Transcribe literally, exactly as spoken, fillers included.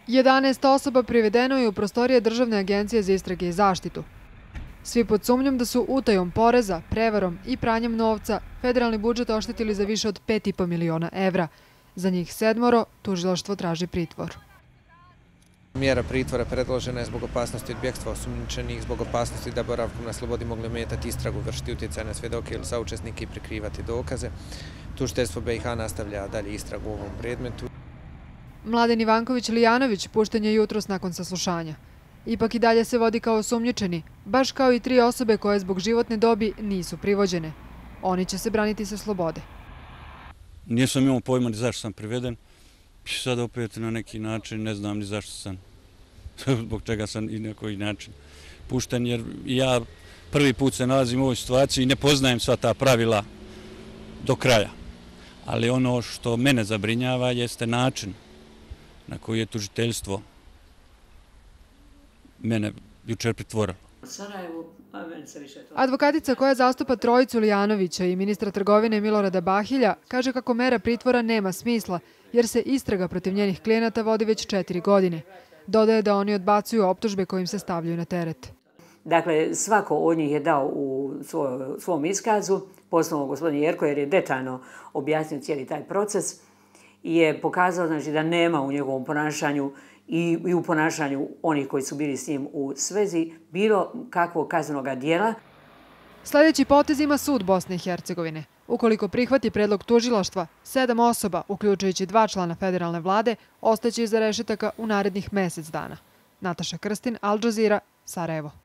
jedanaest osoba privedeno je u prostorije Državne agencije za istrage i zaštitu. Svi pod sumnjom da su utajom poreza, prevarom i pranjem novca federalni budžet oštetili za više od pet i po miliona evra. Za njih sedmoro tužilaštvo traži pritvor. Mjera pritvora predložena je zbog opasnosti od bjegstva osumnjičenih, zbog opasnosti da boravkom na slobodi mogli ometati istragu, vršiti utjecaj na svjedoke ili saučesnike i prikrivati dokaze. Tužiteljstvo B i H nastavlja dalje istragu u ovom predmetu. Mladen Ivanković Lijanović pušten je jutros nakon saslušanja. Ipak i dalje se vodi kao osumnjičeni, baš kao i tri osobe koje zbog životne dobi nisu privođene. Oni će se braniti sa slobode. Nisam imao pojma ni zašto sam priveden. Sad opet na neki način ne znam ni zašto sam, zbog čega sam i na koji način pušten, jer ja prvi put se nalazim u ovoj situaciji i ne poznajem sva ta pravila do kraja. Ali ono što mene zabrinjava jeste način na koji je tužiteljstvo mene jučer pritvorilo. Advokatica koja zastupa trojicu Lijanovića i ministra trgovine Milorada Bahilja kaže kako mera pritvora nema smisla jer se istraga protiv njenih klijenata vodi već četiri godine. Dodaje da oni odbacuju optužbe kojim se stavljaju na teret. Dakle, svako od njih je dao u svom iskazu, posebno gospodin Jerko, jer je detaljno objasnio cijeli taj proces i je pokazao znači, da nema u njegovom ponašanju i u ponašanju onih koji su bili s njim u svezi bilo kakvog kaznenog djela. Sljedeći potez ima sud Bosne i Hercegovine. Ukoliko prihvati predlog tužilaštva, sedam osoba, uključujući dva člana federalne vlade, ostaće iza rešetaka u narednih mjesec dana. Nataša Krstin, Al Jazeera, Sarajevo.